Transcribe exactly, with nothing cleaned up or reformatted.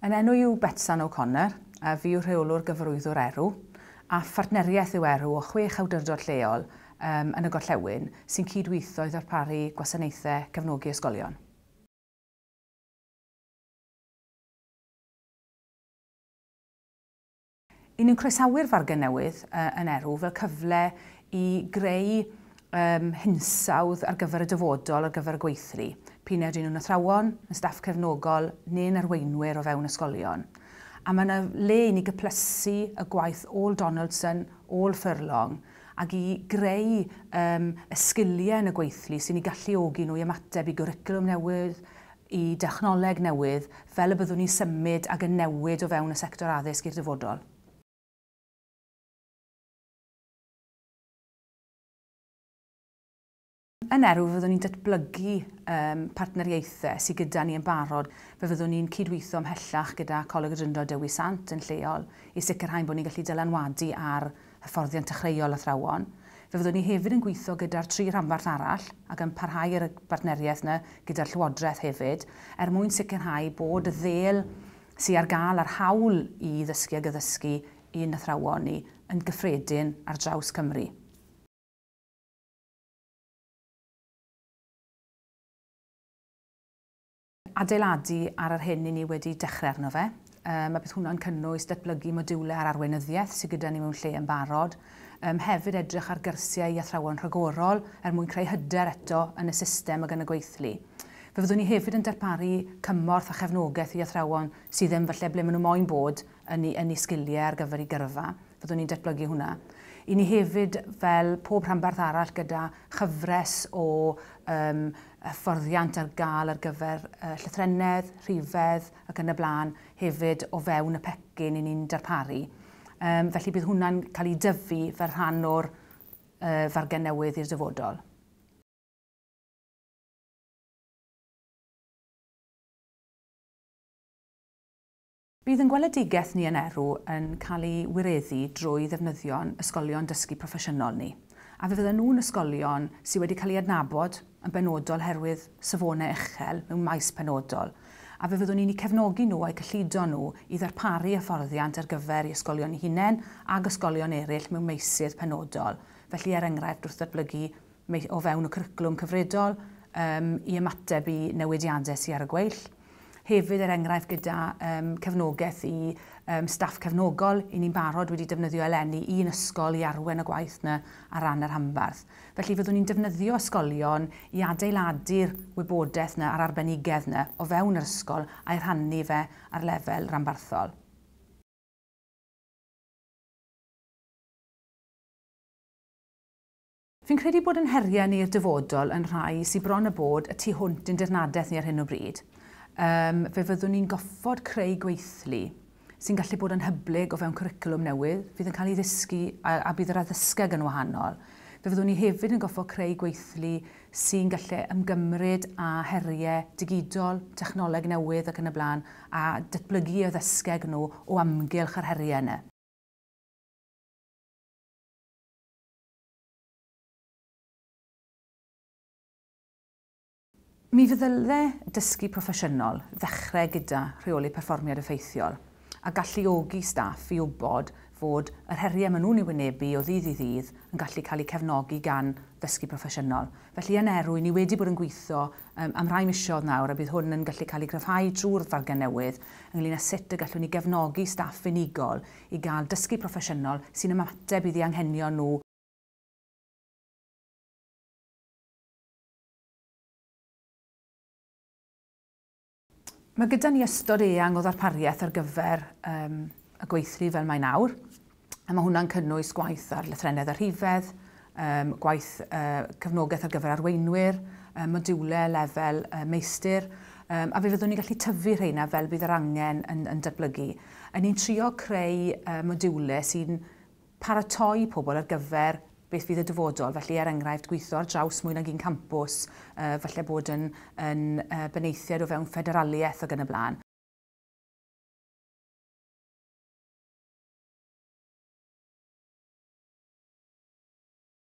Yn enw yw Betsan O'Connor, a fi yw rheolwr gyfarwyddwr Erw, a phartneriaeth yw Erw o chwech awdurdod lleol um, yn y gorllewin sy'n cydweithio i ddarparu gwasanaethau cefnogi ysgolion. I ni'n croesawu'r fargen newydd uh, yn Erw fel cyfle i greu um, hinsawdd ar gyfer y dyfodol, ar gyfer y gweithlu. P'un a ydyn nhw'n athrawon, yn staff cefnogol neu'n arweinwyr o fewn ysgolion. A mae yna le i ni gyplysu y gwaith ôl Donaldson, ôl Furlong, ac i greu um, y sgiliau yn y gweithlu sy'n ei galluogi nhw i ymateb i gwricwlwm newydd, i dechnoleg newydd, fel y byddwn ni'n symud ac yn newid o fewn y sector addysg i'r dyfodol. Yn Erw, fyddwn ni'n datblygu um, partneriaethau sydd gyda ni yn barod. Fe fyddwn ni'n cydweithio ymhellach gyda Coleg y Drindod Dewi Sant yn lleol i sicrhau bod ni'n gallu dylanwadu ar hyfforddiant dechreuol athrawon. Fe fyddwn ni hefyd yn gweithio gyda'r tri rhanbarth arall ac yn parhau ar y bartneriaeth yna gyda'r Llywodraeth hefyd er mwyn sicrhau bod y ddêl sydd ar gael a'r hawl i ddysgu ag addysgu i'n athrawon ni yn gyffredin ar draws Cymru. Adeiladu ar yr hyn i ni wedi dechrau arno fe. Um, a bydd hwnna'n cynnwys datblygu modiwlau ar arweinyddiaeth sydd gyda ni mewn lle yn barod. Um, hefyd edrych ar gyrsiau i athrawon rhagorol er mwyn creu hyder eto yn y system ac yn y gweithlu. Fe fyddwn ni hefyd yn darparu cymorth a chefnogaeth i athrawon sydd ddim falle ble maen nhw moyn bod yn eu, yn eu sgiliau ar gyfer eu gyrfa. Fyddwn ni'n datblygu hwnna. I ni hefyd, fel pob rhanbarth arall, gyda chyfres o um, hyfforddiant ar gael ar gyfer uh, llythrennedd, rhifedd ac yn y blaen, hefyd o fewn y pecyn i ni'n darparu. Um, felly bydd hwnna'n cael ei dyfu fel rhan o'r uh, fargen newydd i'r dyfodol. Bydd yn gweledigaeth ni yn Erw yn cael ei wireddu drwy ddefnyddio'n ysgolion dysgu proffesiynol ni. A fe fydden nhw'n ysgolion sydd wedi cael ei adnabod yn benodol herwydd safonau uchel mewn maes penodol. A fe fyddwn ni'n eu cefnogi nhw a'u cyllido nhw i ddarparu hyfforddiant ar gyfer i ysgolion eu hunain ac ysgolion eraill mewn meysydd penodol. Felly, er enghraifft, wrth ddatblygu o fewn y cwricwlwm cyfredol um, i ymateb i newidiadau sydd ar y gweill. Hefyd, er enghraifft, gyda um, cefnogaeth i um, staff cefnogol, i ni'n barod wedi defnyddio eleni un ysgol i arwain y gwaith yna ar ran yr rhanbarth. Felly fyddwn ni'n defnyddio ysgolion i adeiladu'r wybodaeth yna a'r arbenigedd yna o fewn yr ysgol a'i rhannu fe ar lefel ranbarthol. Fi'n credu bod yn heriau ni i'r dyfodol yn rhai sydd bron y bod y tu hwnt i'n dirnadaeth ni ar hyn o bryd. Um, fe fyddwn ni'n goffod creu gweithlu sy'n gallu bod yn hyblyg o fewn cwricwlwm newydd, fydd yn cael ei ddysgu a, a bydd yr addysgeg yn wahanol. Fe fyddwn ni hefyd yn goffod creu gweithlu sy'n gallu ymgymryd â heriau digidol, technoleg newydd ac yn y blaen, a datblygu addysgeg nhw o amgylch yr heriau yna. Mi fyddai dysgu proffesiynol ddechrau gyda rheoli perfformiad effeithiol a galluogi staff i wybod fod yr heriau maen nhw'n ei wynebu o ddydd i ddydd yn gallu cael eu cefnogi gan ddysgu proffesiynol. Felly yn Erw, ni wedi bod yn gweithio um, am rai misoedd nawr a bydd hwn yn gallu cael ei gryfhau drwy'r fargen newydd ynglyn â sut y gallwn ni gefnogi staff unigol i gael dysgu proffesiynol sy'n ymateb i anghenion nhw. Mae gyda ni ystod eang o ddarpariaeth ar gyfer um, y gweithlu fel mae nawr. A mae hwnna'n cynnwys gwaith ar lythrennedd a rhifedd, um, gwaith uh, cefnogaeth ar gyfer arweinwyr, um, modiwlau lefel uh, meistr, um, a fe fyddwn ni'n gallu tyfu rheina fel bydd yr angen yn, yn datblygu. A ni'n trio creu uh, modiwlau sy'n paratoi pobl ar gyfer beth fydd y dyfodol, felly er enghraifft gweithio ar draws mwy nag un campws, uh, falle bod yn, yn uh, benaethiaid o fewn ffederaliaeth ac yn y blaen.